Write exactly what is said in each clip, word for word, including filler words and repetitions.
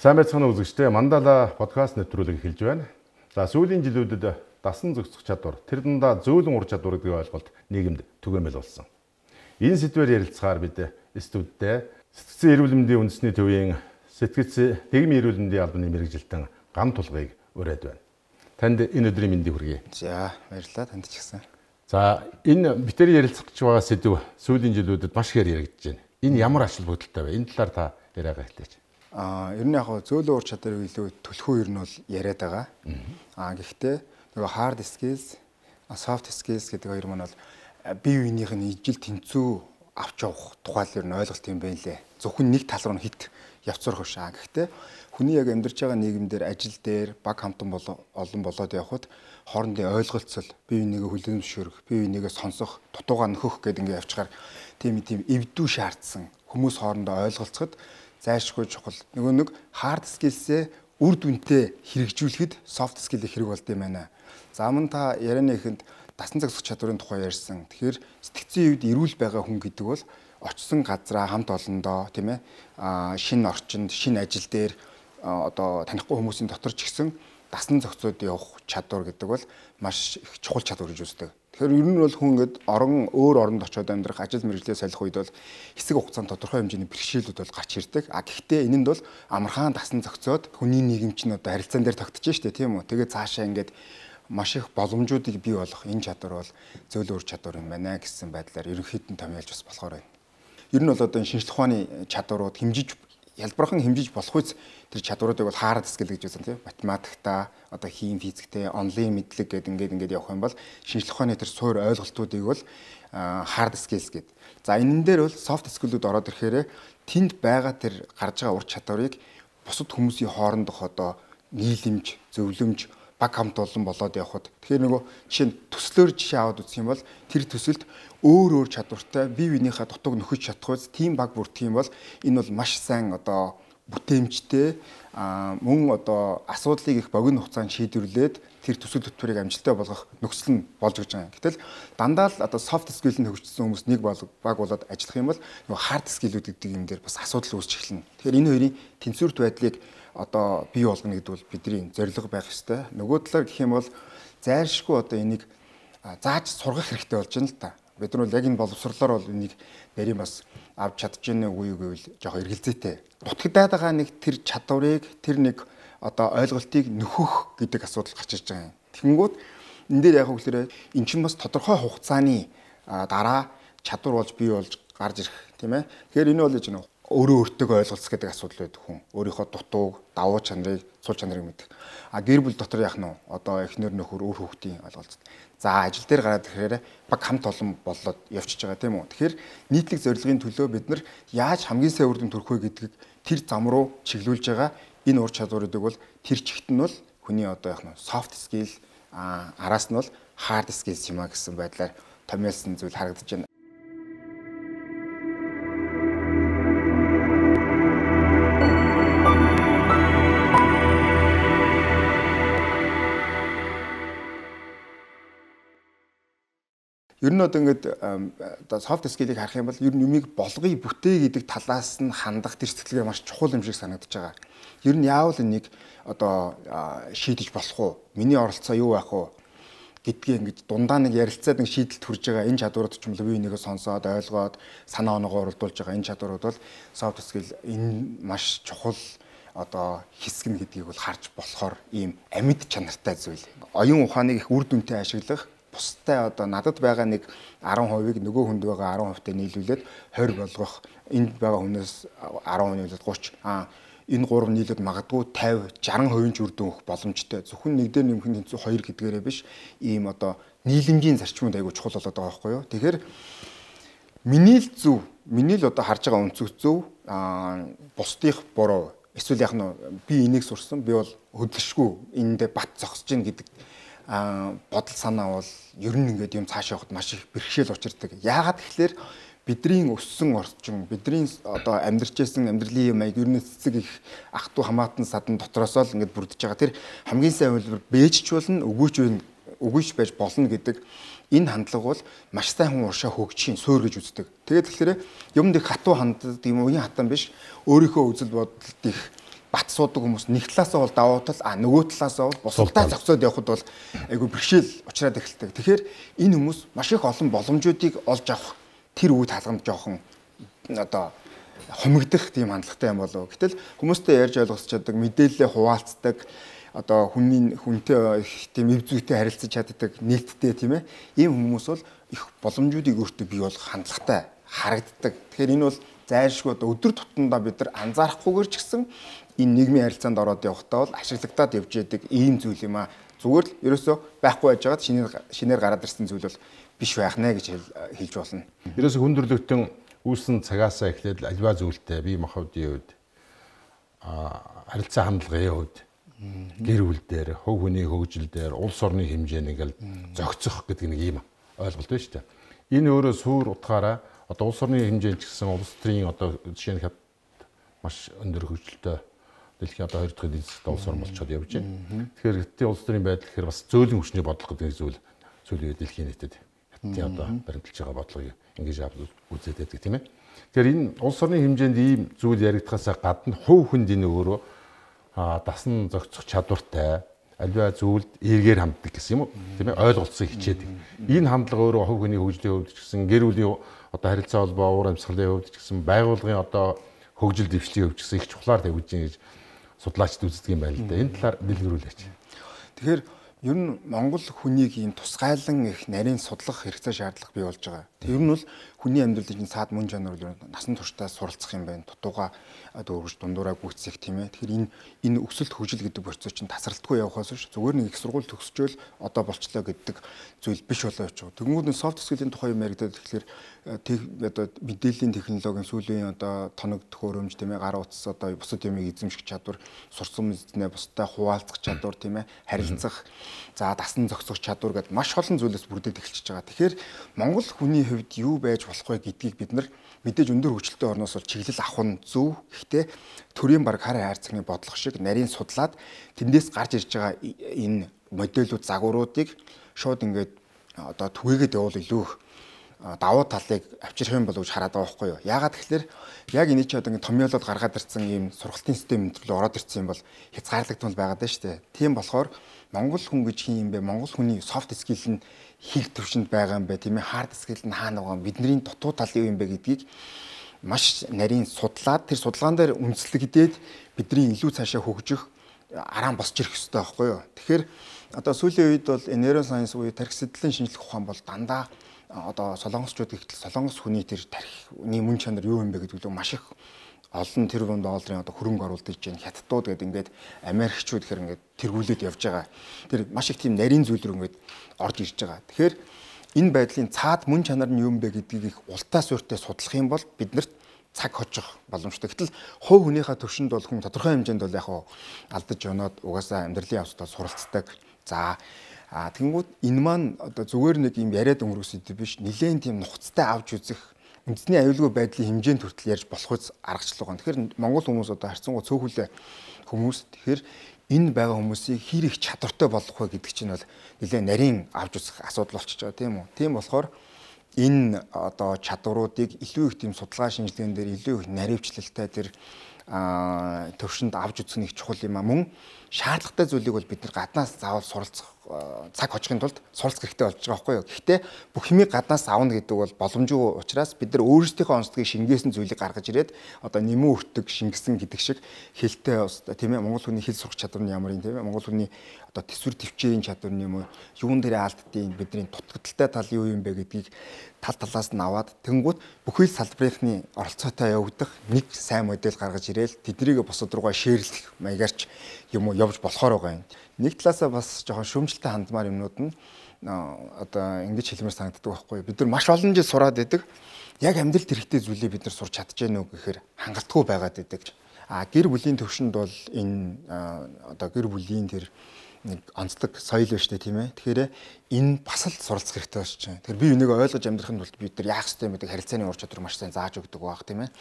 Сайн байцгаана уу үзэгчдээ. Мандала подкаст нэвтрүүлэг эхэлж байна. За сүүлийн жилүүдэд дасан зохицох чадвар, тэр дундаа зөөлөн ур чадвар гэдэг ойлголт нийгэмд түгээмэл болсон. Энэ сэдвээр ярилцахаар бид студидтэй сэтгцэн эрүүл мэндийн үндэсний төвийн сэтгц Тэгмийн эрүүл мэндийн албаны мэргэжилтэн Гам Тулгыг ураад байна. Танд энэ өдрийн мэндийг хүргэе. За баярлалаа, танд ч гэсэн. За энэ битэр ярилцах гэж байгаа сэдв сүүлийн жилүүдэд маш ихээр яригдж байна. Энэ ямар ашиг бүгдэлтэй вэ? Энэ талаар та яриагаа хэлээч. Аа, ер нь яг зөөлөн ур чадварыг илүү төлхөө ер нь бол яриад байгаа. Аа, гэхдээ нөгөө hard skills, soft skills гэдэг хоёр маань бол бие биенийх нь ижил тэнцүү авч явах тухай л ер нь ойлголт юм байна лээ. Зөвхөн нэг тал руу хит явцрах биш аа. Гэхдээ хүний яг амьдарч байгаа нийгэмдэр ажил дээр баг хамтан олон болоод явхад хоорондын ойлголцол, бие бинийгээ хүлээмжшүүлэх, бие бинийгээ сонсох, дутуугаа нөхөх гэдэг ингээ явчихаар тийм тийм эвдүү шаардсан хүмүүс хоорондоо ойлголцоход зайлшгүй чухал. Нөгөө нэг hard skills-ээ үр дүнтэй хэрэгжүүлэхэд soft skill-ийг хэрэг болд юм байна. За мөн та ярианы эхэнд дасан зохицох чадварын тухай ярьсан. Тэгэхээр сэтгцийн үед эрүүл байгаа хүн гэдэг бол очсон газраа хамт олондоо тийм ээ шинэ орчинд, шинэ ажил дээр одоо танихгүй хүмүүсийн дотор ч гэсэн дасан зохицоод явах чадвар гэдэг бол маш их чухал чадвар гэж үздэг. Тэгэхээр ер нь бол хүн ингээд орон өөр оронд очиод амьдрах, ажил мэргэжлээ солих үед бол хэсэг хугацаанд тодорхой хэмжээний бэрхшээлүүд бол гарч ирдэг. А гэхдээ энэнд бол амархан дасан зохицоод хүний нийгэм чинь одоо харилцаан дээр тогтож штэ тийм үү. Тэгээд цаашаа ингээд маш их боломжуудыг бий болгох энэ чадвар бол зөөлөн ур чадвар юм байна гэсэн байдлаар ерөнхийдөө томьёолж бас болохоор байна. Ер нь бол одоо энэ шинжлэх ухааны чадварууд хэмжиж ялбархан хэмжиж болох үс тэр чадваруудыг бол hard skill гэж үзэн тийм математикта одоо хим физиктэй онлайн мэдлэг гэдэг ингээд ингээд явах юм бол шинжлэх ухааны тэр суур ойлголтуудыг бол hard skills гэд. За энэ дээр бол soft skill-үүд ороод ирэхээр тэнд байгаа тэр гарч байгаа ур чадварыг бусад хүмүүсийн хоорондох одоо нийлэмж, зөвлөмж баг хамт олон болоод явхад тэгэхээр нөгөө жишээ нь төслөөр жишээ аваад үзэх юм бол тэр төсөлд өөр өөр чадвартай бие биенийхээ дутууг нөхөж чадхгүйс тийм баг бүрдэх юм бол энэ бол маш сайн одоо бүтээмжтэй мөн одоо асуудлыг их богино хугацаанд шийдвэрлээд тэр төсөл хөтөлбөрийг амжилттай болгох нөхцөл нь болж өгч байгаа. Гэтэл дандаа л одоо soft skill-ийг хөгжсөн хүмүүс нэг баг болоод ажиллах юм бол нөгөө hard skill-үүд гэдэг юм дээр бас асуудал үүсч эхэлнэ. Тэгэхээр энэ хоёрын тэнцвэрт байдлыг одоо бий болгоно гэдэг бол бидний зорилго байх ёстой. Нөгөө талаар гэх юм бол зайлшгүй одоо энийг зааж сургах хэрэгтэй болж байна л та. Бид нар бол яг энэ боловсрлоор бол энийг нарийн бас авч чадчихна үгүй гэвэл жоох эргэлзээтэй. Дутагдаад байгаа нэг тэр чадварыг тэр нэг одоо ойлголтыг нөхөх гэдэг асуудал гарч ирж байгаа юм. Тэгэнгүүт энэ дээр яг үгээр эн чинь бас тодорхой хугацааны дараа чадвар болж бий болж гарч ирэх тийм ээ. Тэгэхээр энэ бол юм өөрөө өөртөө ойлголцох гэдэг асуудал байдаг хүн. Өөрийнхөө дутууг, давуу чанарыг, сул чанарыг мэдэх. А гэр бүл дотор яах нь вэ? Одоо эхнэр нөхөр өөр хүүхдийн ойлголцол. За ажил дээр гараад ирэхээр баг хамт олон болоод явчихж байгаа тийм үү. Тэгэхээр нийтлэг зорилгын төлөө бид нар яаж хамгийн сайн үр дүн төрөх вэ гэдгийг тэр зам руу чиглүүлж байгаа энэ ур чадваруудыг бол тэр чигт нь бол хүний одоо яах нь soft skill а араас нь бол hard skills юм а гэсэн байдлаар томьёолсон зүйл харагдаж байна. Ер нь одоо ингээд одоо soft skill-ийг харах юм бол ер нь юмыг болгоё бүтээ гэдэг талаас нь хандах тэр сэтгэлгээ маш чухал юм шиг санагдаж байгаа. Ер нь яавал энийг одоо шийдэж болох уу? Миний оролцоо юу байх вэ? Гэдгийг ингэж дундаа нэг ярилцаад нэг шийдэлд хүрж байгаа энэ чадварууд ч юм уу бие бинийгээ сонсоод ойлгоод санаа оноогоо уралдуулж байгаа энэ чадварууд бол soft skill энэ маш чухал одоо хэсэг нь гэдгийг бол харж болохоор ийм амьд чанартай зүйл. Оюун ухааныг их үр дүнтэй ашиглах бустай одоо надад байгаа нэг арван хувийг нөгөө хүнд байгаа арван хувьтай нийлүүлээд хорь болгох энд байгаа хүнээс арван нийлээд гурван аа энэ гурав нийлээд магадгүй тавин шаран хувийн ч үр дүн өгөх боломжтой. Зөвхөн нэг дээр нэмэх тэнцүү хоёр гэдгээрээ биш ийм одоо нийлэмжийн зарчмууд айгүй чухал болоод байгаа байхгүй юу. Тэгэхээр миний л зөв, миний л одоо харж байгаа өнцөг зөв аа бусдынх буруу. Эсвэл яг нь би энийг сурсан би бол хөдөлшгүй эндээ бат зогсож гин гэдэг а бодол санаа бол ер нь ингээд юм цааш явахад маш их бэрхшээл учирдаг. Яагаад гэхээр бидний өссөн орчин, бидний одоо амьдарч байсан амьдралын юм аяг ер нь цэцэг их ах トゥ хамаатан садан дотроос л ингээд бүрдэж байгаа. Тэр хамгийн сайн хэлбэр бэжч болно, өгөөч өгөөч байж болно гэдэг энэ хандлага бол маш сайн хүн уршаа хөгжихийн суурь гэж үздэг. Тэгээд тэгэхээр юмд их хатуу ханддаг юм уу, уян хатан биш. Өөрийнхөө үзэл бодолд их бат суудаг хүмүүс нэг талаасаа бол давуу тал, а нөгөө талаасаа бол бусдаа зогсоод явхад бол айгүй бэрхшээл учраад эхэлдэг. Тэгэхээр энэ хүмүүс маш их олон боломжуудыг олж авах тэр үед хаалганд жоохон одоо хумигдах тийм хандлагатай юм болов. Гэтэл хүмүүстэй ярьж ойлгосч чаддаг, мэдээлэлээ хуваалцдаг, одоо хүний хүнтэй тийм эв зүйтэй харилцаж чаддаг нээлттэй тийм ээ. Ийм хүмүүс бол их боломжуудыг өөртөө бий болгох хандлагатай харагддаг. Тэгэхээр энэ бол зайлшгүй одоо өдөр тутамдаа бид нар анзаарахгүйгээр ч гэсэн энэ нийгмийн харилцаанд ороод явахдаа бол ашиглагдаад явж яадаг ийм зүйл юм аа. Зүгээр л ерөөсөө байхгүй байж байгаад шинээр шинээр гараад ирсэн зүйл бол биш байх нэ гэж хэлж болно. Ерөөсөө хүндрэлтэн үүссэн цагаасаа эхлээд альва зүйлтэй бие махбодын үед а харилцаа хандлагын үед гэр бүл дээр, хөв хүний хөгжил дээр, улс орны хэмжээнд ингээл зохицох гэдэг нэг юм ойлголт байна шүү дээ. Энэ өөрөө суур утгаараа одоо улс орны хэмжээнд ч гэсэн улс төрийн одоо жишээ нь маш өндөр хөгжилтэй дэлхийн одоо хоёр дахь эзэн засгийн улс орн болчиход явж байна. Тэгэхээр хэдийн улс төрийн байдал гэхээр бас зөөлөн хүчний бодлого гэдэг зүйл сүүлийн үед дэлхийн нийтэд хэдийн одоо баримталж байгаа бодлогыг ингэж үзээд байдаг тийм ээ. Тэгэхээр энэ улс орны хэмжээнд ийм зүйл яригдахаасаа гадна хувь хүнд энэ өөрөө дасан зохицох чадвартай альва зүйлд эргээр ханддаг гэсэн юм уу тийм ээ ойлголцсон хичээдэг. Энэ хандлага өөрөө хувь хүний хөгжлийн хувьд ч гэсэн гэр бүлийн одоо харилцаа холбоо уур амьсгалын хувьд ч гэсэн байгууллагын одоо хөгжил дэвшлийн хувьд ч гэсэн их чухлаар тавьж байна гэж судлаачид үздэг юм байна л да. Энэ талаар дэлгэрүүлээч. Тэгэхээр ер нь Монгол хүнийг ийм тусгайлан их нарийн судлах хэрэгцээ шаардлага бий болж байгаа. Тэр нь бол хүний амьдралын цаад мөн чанар бол насан туршдаа суралцах юм байна. Дутууга дөрвөж дундуураа гүйцэх тийм ээ. Тэгэхээр энэ энэ өсөлт хөгжил гэдэг процесс чинь тасралтгүй явахаас биш зүгээр нэг их сургууль төгсчөөл одоо болчлоо гэдэг зүйл биш болоо явж байгаа. Тэгмүүд нь софт скилийн тухай юм яригдаад тэгэхээр одоо мэдээллийн технологийн сүүлийн одоо тоног төхөөрөмж тийм ээ гар утас одоо бусад юмыг эзэмших чадвар сурсан мэднэ бусдаа хуваалцах чадвар тийм ээ харилцах за дасан зохицох чадвар гэдэг маш олон зүйлээс бүрдээд эхэлчихэж байгаа. Тэгэхээр Монгол хүний хувьд юу байж болох вэ гэдгийг бид нар мэдээж өндөр хөгжилтэй орноос бол чиглэл авах нь зөв. Гэхдээ төрийн баг хар хайрцагны бодлого шиг нарийн судлаад тэндээс гарч ирж байгаа энэ модельүүд загваруудыг шууд ингээд одоо түгээгээд явуул илүү давуу талыг авчрах юм болов гэж хараад байгаа байхгүй юу. Яагаад тэгэхээр яг энэ ч одоо ингэ томьёолоод гаргаад ирсэн ийм сургалтын систем өнтрлөө ороод ирсэн юм бол хязгаарлагдмал байгаад байна шүү дээ. Тийм болохоор Монгол хүн гэж хин юм бэ? Монгол хүний софт скил нь хийг төвшөнд байгаа юм бэ? Тийм ээ хард скил нь хаана байгаа юм? Бидний дутуу тал юу юм бэ гэдгийг маш нарийн судлаад тэр судалгаан дээр үндэслэгдээд бидний илүү цаашаа хөгжих араан босч ирэх хэрэгтэй байхгүй юу. Тэгэхээр одоо сүүлийн үед бол нейросайенс буюу тархи сэтгэлийн шинжлэх ухаан бол дандаа одоо солонгосчууд ихтэл солонгос хүний тэр тархины мөн чанар юу юм бэ гэдэг нь маш их олон тэрбум долларын одоо хөрөнгө оруулж иж хятадууд гэдэг ингээд Америкчууд гэхэр ингээд тэргүүлээд явж байгаа. Тэр маш их тийм нарийн зүйл рүү ингээд орж ирж байгаа. Тэгэхээр энэ байдлын цаад мөн чанар нь юу юм бэ гэдгийг их ултаа суурьтай судлах юм бол биднэрт цаг хожих боломжтой. Гэтэл хувь хүнийхээ төвшөнд бол хүн тодорхой хэмжээнд бол яг алдаж өнөөд угаасаа амьдралын явцдаа суралцдаг. За а тэгэнгүүт энэ маань одоо зүгээр нэг юм яриад өнгөрөөс идэв биш. Нилээн тийм нухацтай авч үзэх үндэсний аюулгүй байдлын хэмжээнд хүртэл ярьж болох үс аргачлал байгаа. Тэгэхээр Монгол хүмүүс одоо харьцангуй цөөхөлөө хүмүүс. Тэгэхээр энэ байгаа хүмүүсийг хэр их чадвартай болгох вэ гэдэг чинь бол нилээн нарийн авч үзэх асуудал болчихж байгаа тийм үү. Тийм болохоор энэ одоо чадваруудыг илүү их тийм судалгаа шинжилгээнд дээр илүү их наривчлалтай тэр төвшөнд авч үзэх нэг чухал юм а. Мөн шаардлагатай зүйлийг бол бид нар гаднаас заавал суралцах цаг хожихын тулд суралцах хэрэгтэй болж байгаа байхгүй юу. Гэхдээ бүх юмыг гаднаас авна гэдэг бол боломжгүй учраас бид нар өөрсдийнхөө онцлогийг шингээсэн зүйлийг гаргаж ирээд одоо нэмэн өртөг шингэсэн гэдэг шиг хэлтэй тийм ээ Монгол хүний хэл сурах чадвар нь ямар юм тийм ээ Монгол хүний одоо төсвөр төвчээрийн чадвар нь юм уу юун дээр алддیں۔ Бидний дутагдaltaй тал юу юм бэ гэдгийг тал талаас нь аваад тэнгуут бүхий л салбарынхны оролцоотой явагдах нэг сайн модель гаргаж ирээл тэднийг бусад руугаа шеэрлэх маягаарч юм уу явж болохоор байгаа юм. Нэг талаасаа бас жоохон шүүмжлэлтэй хандмаар юмнууд нь одоо ингэж хэлмээр санагддаг байхгүй. Бид нар маш олон жил сураад байдаг. Яг амьдралд хэрэгтэй зүйлийг бид нар сурч чадчихэв нүг гэхээр хангалтгүй байгаад байдаг. А гэр бүлийн төвшөнд бол энэ одоо гэр бүлийн тэр нэг онцлог соёл ба штэ тийм ээ. Тэгэхээр энэ бас л суралцах хэрэгтэй болж байна. Тэгэхээр би энийг ойлгож амьдрахын тулд бид нар яах ёстой юм бэ? Харилцааны ур чадвар маш сайн зааж өгдөг байх тийм ээ.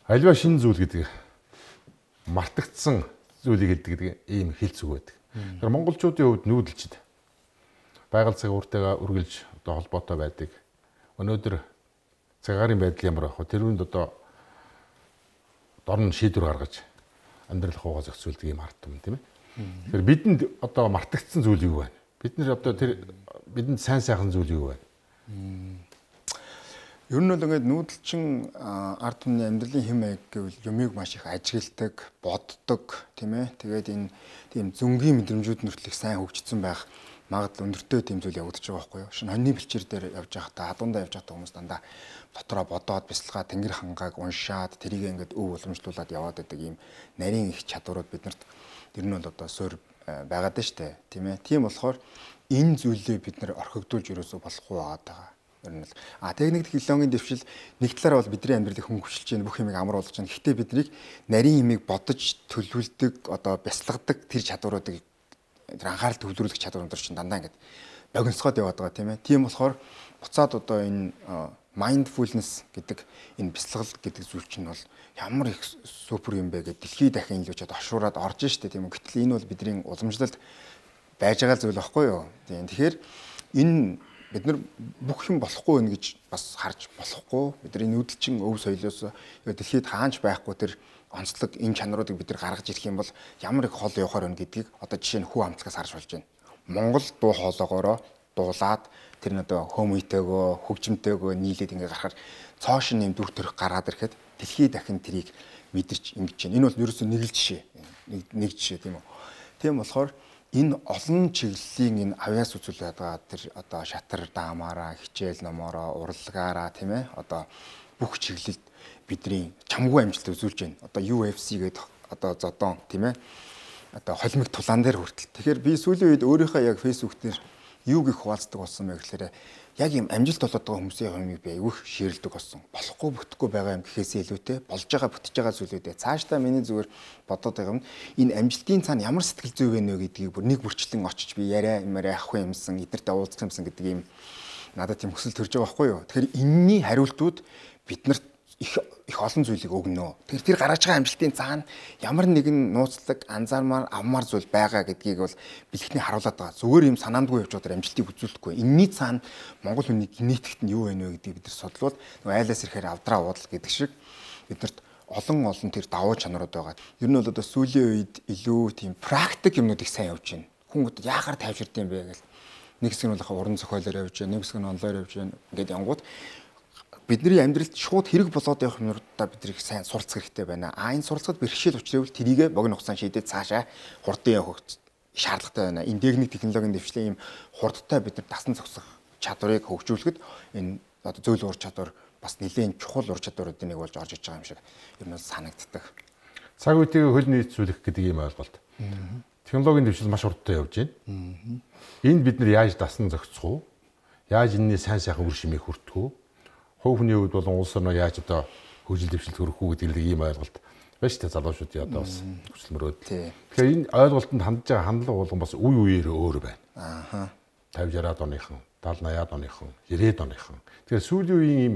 Альва шинэ зүйл гэдэг мартагдсан зүйлийг хэлдэг гэдэг ийм хэлц үг байдаг. Тэгэхээр монголчуудын хувьд нүүдэлчд байгаль цагууртайгаа үргэлж одоо холбоотой байдаг. Өнөөдөр цагаарын байдал ямар байх вэ? Тэрүүнд одоо дорн шийдвэр гаргаж амьдрал хуугаа зохицуулдаг юм ард юм тийм ээ. Тэгэхээр бидэнд одоо мартагдсан зүйл юу вэ? Бид нэр одоо тэр бидэнд сайн сайхан зүйл юу вэ? Ер нь бол ингээд нүүдэлчин ард түмний амьдралын хэм маяг гэвэл юмыг маш их ажигладаг, боддог тийм ээ. Тэгээд энэ тийм зөнгийн мэдрэмжүүд нүртлэх сайн хөгжсөн байх магадлал өндөртэй тийм зүйл явагдаж байгаа байхгүй юу? Шинэ хоньны бэлчээр дээр явж байхдаа хадундаа явж байхдаа хүмүүс дандаа дотроо бодоод бясалгаа тэнгэр хангааг уншаад тэрийг ингээд өв уламжлуулад яваад байдаг ийм нарийн их чадварууд биднэрт ер нь бол одоо суур байгаад байна шүү дээ тийм ээ. Тийм болохоор энэ зүйлээ бид нэр орхигдуулж ерөөсөө болохгүй байгаа. Ер нь л а техник технологийн дэвшил нэг талаараа бол бидний амьдралыг хөнгөвчлж байна, бүх юмыг амар болгож байна. Гэхдээ биднийг нарийн юмыг бодож төлөвлөдөг, одоо бясалгадаг тэр чадваруудыг тэр анхаарал төвлөрүүлэх чадвар өндөр чинь дандаа ингээд богиносгоод яваад байгаа тийм ээ. Тийм болохоор буцаад одоо энэ mindfulness гэдэг энэ бясалгал гэдэг зүйл чинь бол ямар их супер юм бэ гэдэг дэлхий дахин илүүчээд оршуураад орж штэ тийм үү. Гэтэл энэ бол бидний уламжлалд байж байгаа зүйл байхгүй юу. Тийм. Тэгэхээр энэ бид нар бүх юм болохгүй нэ гэж бас харж болохгүй. Бидний нүүдэлчин өв соёлоос дэлхийд хаанч байхгүй тэр онцлог энэ чанаруудыг бид нар гаргаж ирэх юм бол ямар их хол явахаар байна гэдгийг одоо жишээ нь хүү амтлагаас харж болж байна. Монгол дуу хоолоогоороо дуулаад тэр нь одоо хөмөйтэйгөө хөгжимтэйгөө нийлээд ингээ гарахаар цоош нэм дүр төрх гараад ирэхэд дэлхий дахин тэрийг мэдэрч ингэж байна. Энэ бол ерөөсөө нэг л жишээ. Нэг жишээ тийм үү. Тийм болохоор энэ олон чиглэлийн энэ авьяас үзүүлээд байгаа тэр одоо шатар даамаараа, хичээл номоороо, урлагаараа тийм ээ одоо бүх чиглэлд бидний чамгүй амжилт үзүүлж байна. Одоо ю эф си гэдэг одоо зодон тийм ээ одоо холимог тулаан дээр хүртэл. Тэгэхээр би сүүлийн үед өөрийнхөө яг фэйсбүүк дээр юу гэх хуваалцдаг болсон бэ гэхээр яг юм амжилт болоод байгаа хүмүүсийн юмыг би айвуух ширэлдэг болсон. Болохгүй бүтэхгүй байгаа юм гэхээсээ илүүтэй болж байгаа бүтэж байгаа зүйлүүдээ цаашдаа миний зүгээр бодоод байгаа юм. Энэ амжилтын цаана ямар сэтгэл зүй вэ нэ гэдгийг бүр нэг бүрчлэн очиж би яриа юмараа авах юмсан, эднэртэй уулзах юмсан гэдэг юм надад тийм хүсэл төрж байгаа байхгүй юу. Тэгэхээр энэний хариултууд биднэрт их их олон зүйлийг өгнө. Тэр тэр гаргаж байгаа амжилтын цаана ямар нэгэн нууцлаг анзаармаар авмаар зүйл байгаа гэдгийг бол бэлгэхний харуулдаг байгаа. Зүгээр юм санаандгүй явж байгаа амжилтыг үзүүлэхгүй. Энэний цаана монгол хүний генетикт нь юу вэ нэ гэдгийг бид нар судлаад нөгөө айлаас ирэхээр авдраа уудал гэдэг шиг биднэрт олон олон тэр давуу чанарууд байгаа. Ер нь бол одоо сүүлийн үед илүү тийм практик юмнуудыг сайн явж байна. Хүн яахаар тайвширд юм бэ гэл нэг хэсэг нь бол уран зохиолоор явж байна, нэг хэсэг нь онлоор явж байна. Ингээд янгууд бидний амьдралд шууд хэрэг болоод явах юмудаа бид их сайн суралцах хэрэгтэй байна. А энэ суралцахад бэрхшээл учрал тэрийг богино хугацаанд шийдээд цаашаа хурдан явах шаардлагатай байна. Энэ техник технологийн дэвшлийн ийм хурдтай бид нар дасан зогсох чадварыг хөгжүүлэхэд энэ одоо зөөл ур чадвар бас нэлээд чухал ур чадваруудын нэг болж орж иж байгаа юм шиг ер нь санагддаг. Цаг үеийг хөл нийцүүлэх гэдэг ийм ойлголт. Технологийн дэвшил маш хурдтай явж байна. Энд бид нар яаж дасан зогсох вэ? Яаж энэний сайн сайхан үр шимийг хүртэх вэ? Хувь хүний хувьд болон улс орноо яаж одоо хөгжил дэвшилт хүргэх үү гэдэг ийм ойлголт байна шүү дээ залуучуудын одоо бас хүсэлмөрөөд. Тэгэхээр энэ ойлголтод хандж байгаа хандлага болгон бас үе үеэр өөр байна. Аа. тавьж яраад оныхон, даал наяад оныхон, ирээд оныхон. Тэгэхээр сүүлийн үеийн ийм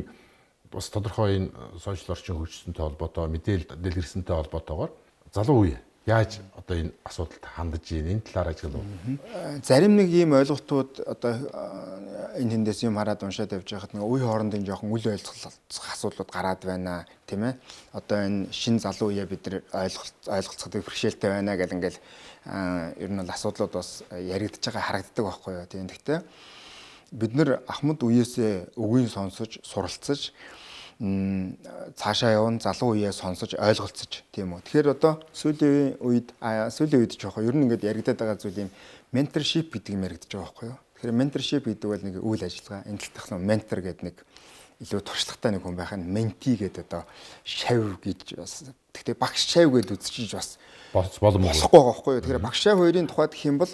бас тодорхой энэ сошиал орчин хөгжсөнтэй холбоотой, мэдээлэл дэлгэрсэнтэй холбоотойгоор залуу үе яаж одоо энэ асуудалд хандаж ийн энэ талаар ажиглав. Зарим нэг ийм ойлголтууд одоо энэ хэндээс юм хараад уншаад явж байхад нэг үе хоорондын жоохон үл ойлголцох асуудлууд гараад байна тийм ээ. Одоо энэ шин залуу үе бид нар ойлголт ойлголцоход бэрхшээлтэй байна гэл ингээл ер нь бол асуудлууд бас яригдж байгаа харагддаг байхгүй юу. Тийм гэхдээ бид нар ахмад үеэсээ үгийг сонсож суралцаж цаашаа явна залуу үеэ сонсож ойлголцож тийм үү. Тэгэхээр одоо сүүлийн үед сүүлийн үед жоохоо ер нь ингээд яригадаад байгаа зүйл юм менторшип гэдэг юм яригдаж байгаа байхгүй юу. Тэгэхээр менторшип гэдэг бол нэг үйл ажиллагаа. Энэ тал дахь ментор гэдэг нэг илүү туршлагатай нэг хүн байх нь менти гэдэг одоо шав гэж бас гэхдээ багш шав гэдээ үзчихэж бас боломжтой болохгүй байгаа байхгүй юу. Тэгэхээр багш шав хоёрын тухайд гэх юм бол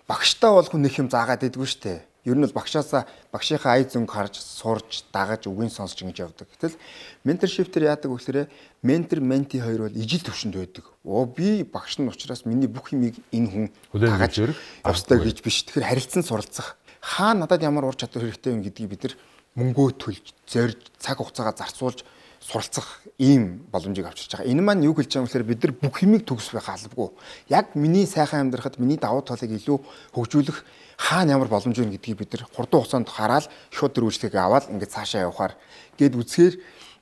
багштай бол хүн нэг юм заагаад байдгүй шүү дээ. Ер нь бол багшаасаа багшийнхаа ай зүнг харж, сурж, дагаж, үгийн сонсож ингэж явдаг. Гэтэл менторшип төр яадаг вэ гэхээр ментор, менти хоёр бол ижил төвшөнд байдаг. Оо би багш нь учраас миний бүх юмыг энэ хүн дагаж явстай гэж биш. Тэгэхээр харилцан суралцах. Хаа надад ямар ур чадвар хэрэгтэй юм гэдгийг бид нар мөнгөө төлж, зорж, цаг хугацаагаа зарцуулж суралцах ийм боломжийг авчирч байгаа. Энэ маань юу хэлж байгаа юм гэхээр бид нар бүх юмыг төгсөх байх албагүй. Яг миний сайхан амьдрахад миний давуу талыг илүү хөгжүүлэх хаана ямар боломж вэ гэдгийг бид нар хурдан хугацаанд хараад шууд тэр үйлчлэгийг аваад ингээд цаашаа явахаар гээд үзэхээр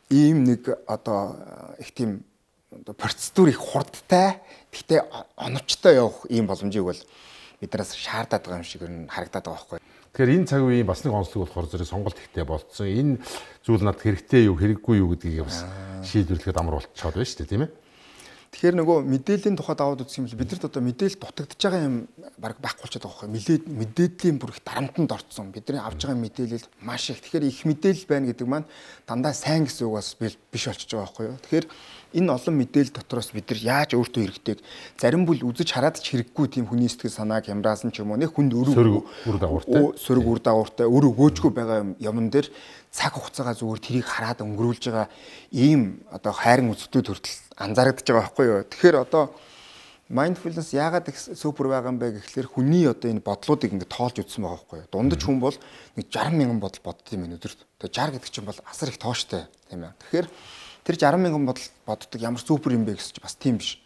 ийм нэг одоо их тийм процедур их хурдтай гэхдээ оновчтой явах ийм боломжийг бол биднээс шаардаад байгаа юм шиг нь харагдаад байгаа байхгүй. Тэгэхээр энэ цаг үеийн бас нэг онцлог болохоор зэрэг сонголт ихтэй болцсон. Энэ зүйл надад хэрэгтэй юу, хэрэггүй юу гэдгийг бас шийдвэрлэхэд амар болчиход байна шүү дээ, тийм ээ. Тэгэхээр нөгөө мэдээллийн тухайд аваад үзэх юм бол бидэрт одоо мэдээлэл дутагдж байгаа юм баг байхгүй болчиход байгаа байхгүй. Мэдээллийн бүр их дарамтанд орцсон. Бидний авж байгаа мэдээлэл маш их. Тэгэхээр их мэдээлэл байна гэдэг маань дандаа сайн гэсэн үг бас биш болчихж байгаа байхгүй юу. Тэгэхээр энэ олон мэдээлэл дотроос бид нар яаж өөртөө хэрэгтэйг зарим бүл үзэж хараад ч хэрэггүй тийм хүний сэтгэл санааг хямраасан ч юм уу нэг хүнд өрөг үр дагавартай сөрөг үр дагавартай өр өгөөжгүй байгаа юмн дээр цаг хугацаагаа зүгээр тэрийг хараад өнгөрүүлж байгаа ийм одоо хайрын үзэгдүүд хүртэл анзаарэгдэж байгаа байхгүй юу. Тэгэхээр одоо mindfulness яагаад их супер байгаа юм бэ гэхлээр хүний одоо энэ бодлуудыг ингээд тоолж үзсэн байгаа байхгүй юу. Дундаж хүн бол нэг саран мянган бодол бодд юм өдөрт. Тэгээ саран гэдэг чинь бол асар их тооштой тийм ээ. Тэгэхээр тэр саран мянган бодол боддог ямар супер юм бэ гэсэн чинь бас тийм биш.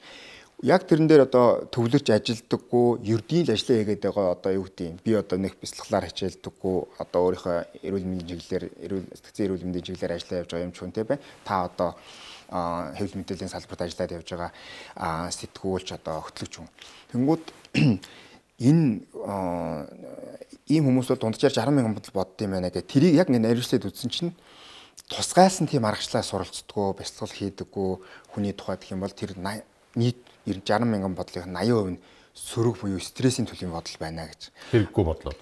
Яг тэрэн дээр одоо төвлөрч ажилдаггүй, ердийн л ажиллаа хийгээд байгаа одоо юу гэдэг юм. Би одоо нэг бяцлаглаар хичээлдэггүй, одоо өөрийнхөө эрүүл мэндийн чиглэлээр эрүүл сэтгцэн эрүүл мэндийн чиглэлээр ажиллаа явж байгаа юм ч хүн те бай. Та одоо хэвлэл мэдээллийн салбарт ажиллаад явж байгаа сэтгүүлч одоо хөтлөгч хүн. Тэнгүүд энэ ийм хүмүүс бол дунджаар саран мянган бодол бодд юм байна гэх. Тэрийг яг нэг наривчлаад үзсэн чинь тусгайлсан тийм аргачлалаа суралцдаггүй, бяцлал хийдэггүй хүний тухайд гэх юм бол тэр нийт саран мянган бодлын восемьдесят хувь нь сөрөг буюу стрессийн төлөвийн бодол байна гэж. Хэрэггүй бодлоо.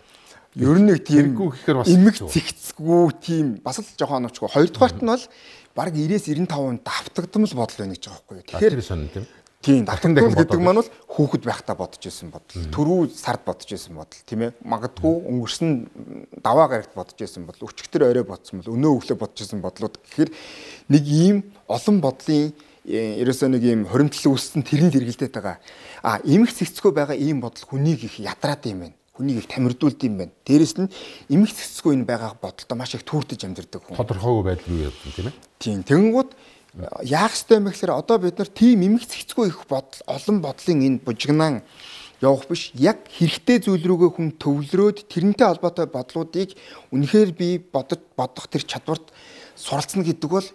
Ер нь нэг тийм хэрэггүй гэхээр бас эмэг цэгцгүй тийм бас л жоохон оновчгүй. Хоёрдугаарт нь бол бараг ninety-ээс ninety-five давтагдмал бодол байна гэж байгаа байхгүй юу. Тэгэхээр сонь тийм. Тийм давтагдмал гэдэг маань бол хүүхэд байхдаа бодож исэн бодол. Түрүү сард бодож исэн бодол тийм ээ. Магадгүй өнгөрсөн даваа гарагт бодож исэн бодол. Өчигдөр орой бодсон бол өнөө өглөө бодож исэн бодлууд. Тэгэхээр нэг ийм олон бодлын ерөөсөө нэг ийм хоримтлал үүссэн тэрний хэрэгэлдээд байгаа. А эмх цэгцгүй байгаа ийм бодол хүнийг их ядраад юм байна. Хүнийг их тамирдуулд юм байна. Дээрэс нь эмх цэгцгүй энэ байгаа бодолтой маш их түүртэж амьдэрдэг хүн. Тодорхойгүй байдал юу юм тийм ээ. Тийм. Тэгэнгүүт яах ёстой юм бэ гэхээр одоо бид нар тийм эмх цэгцгүй их бодол олон бодлын энэ бужигнаан явах биш. Яг хэрэгтэй зүйл рүүгээ хүн төвлөрөөд тэрнтэй холбоотой бодлуудыг үнэхээр би бодож бодох тэр чадварт суралцна гэдэг бол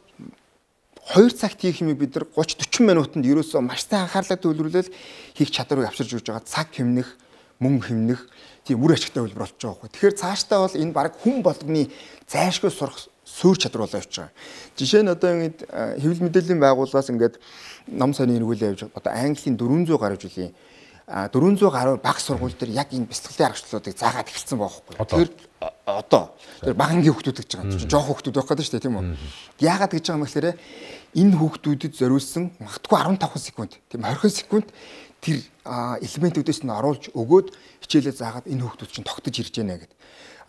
хоёр цагт хийх юм бид нар thirty forty минутанд ерөөсөө маш сайн анхаарлаа төвлөрүүлэл хийх чадварыг авчирж өгч байгаа. Цаг хэмнэх, мөнгө хэмнэх тийм үр ашигтай хэлбэр болж байгаа байхгүй. Тэгэхээр цаашдаа бол энэ баг хүн болгоны зайлшгүй сурах суур чадвар болоо явж байгаа. Жишээ нь одоо ингэж хэвлэл мэдээллийн байгууллагаас ингээд ном сонин эргүүлээ явж одоо Английн four hundred гаруй жилийн four hundred гаруй баг сургууль дээр яг энэ бяцлаглалын аргачлалуудыг заагаад эхэлсэн байхгүй. Тэгэхээр одоо тэр багангийн хүүхдүүд гэж байгаа юм чинь жоох хүүхдүүд байх гэдэг шүү дээ тийм үү. Яагаад гэж байгаа юм гэхээр энэ хүүхдүүдэд зориулсан магадгүй fifteen секунд тийм twenty секунд тэр элементүүдээс нь оруулж өгөөд хичээлээ заагаад энэ хүүхдүүд чинь тогтож ирж байна гэдэг.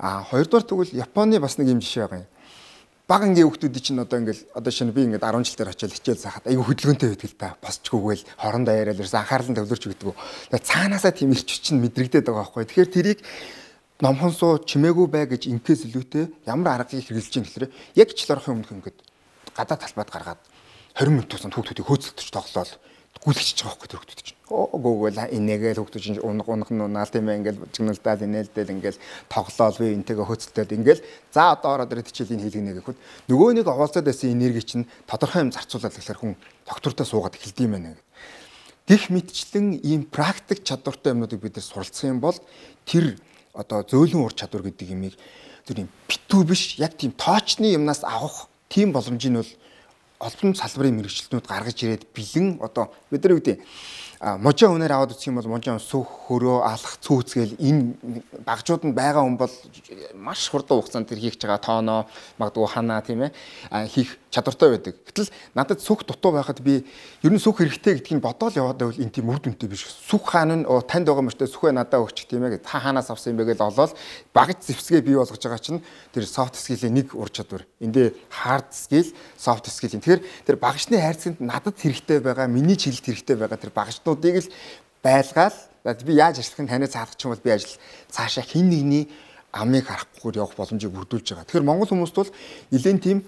А хоёрдугаар тэгвэл Японы бас нэг юм жишээ байгаа юм. Багангийн хүүхдүүд чинь одоо ингээл одоо шинэ би ингээд ten жил дээр очиад хичээл заахад айгүй хөдөлгөөнтэй байдаг л да. Босчгүйгээл хорондоо яриад ерөөс анхаарлан төвлөрч өгдөг. Тэгээ цаанаасаа тийм ирч чинь мэдрэгдээд байгаа байхгүй. Тэгэхээр тэрийг номхон суу чимээгүй бай гэж инкээс илүүтэй ямар аргыг хэрэгжилж чинь гэхээр яг жил орохын өмнөх ингээд гадаа талбайд гаргаад twenty минут тусанд хүүхдүүдийг хөөцөлдөж тоглоол гүйлгэж байгаа байхгүй тэр хүүхдүүд чинь. Гоогоол инээгээл хүүхдүүд чинь унах унах нь унаал тийм ээ ингээл чигнэлдэл инээлдэл ингээл тоглоол би энтэйгээ хөөцөлдөд ингээл за одоо ороод ирээд хичээлийн хийлгэнэ гэхэд нөгөө нэг овоолцоод байсан энерги чинь тодорхой юм зарцуулаад гэхэлэр хүн доктортой суугаад эхэлдэм байна гэдэг. Гэх мэтчлэн ийм практик чадвартай юмнуудыг бид нар суралцсан юм бол тэр одоо зөөлөн ур чадвар гэдэг юмыг тэр юм битүү биш яг тийм тоочны юмнаас авах тийм боломжийг нь бол олон салбарын мэрэгчлэнүүд гаргаж ирээд бэлэн одоо бид нар юу гэдэг можоо үнээр аваад үзэх юм бол можоо сүх хөрөө алах цүүцгээл энэ багжууд нь байгаа хүн бол маш хурдан хугацаанд тэр хийх байгаа тооноо магадгүй ханаа тийм ээ хийх чадвартай байдаг. Гэтэл надад сүх дутуу байхад би ер нь сүх хэрэгтэй гэдгийг бодоол яваад байвал энэ тийм үр дүнтэй биш. Сүх хаана нь танд байгаа мөртөө сүхээ надад өгч тийм ээ та хаанаас авсан юм бэ гэж олоод багж зэвсгээ бий болгож байгаа чинь тэр soft skill-ийн нэг ур чадвар. Эндээ hard skill, soft skill. Тэгэхээр тэр багжны хайрцагт надад хэрэгтэй байгаа, миний чиглэлд хэрэгтэй байгаа тэр багжнуудыг л байлгаал би яаж ажиллахыг танаас хаалгач юм бол би ажил цаашаа хин нэгний амыг харахгүйгээр явах боломжийг бүрдүүлж байгаа. Тэгэхээр монгол хүмүүст бол нэлээд тийм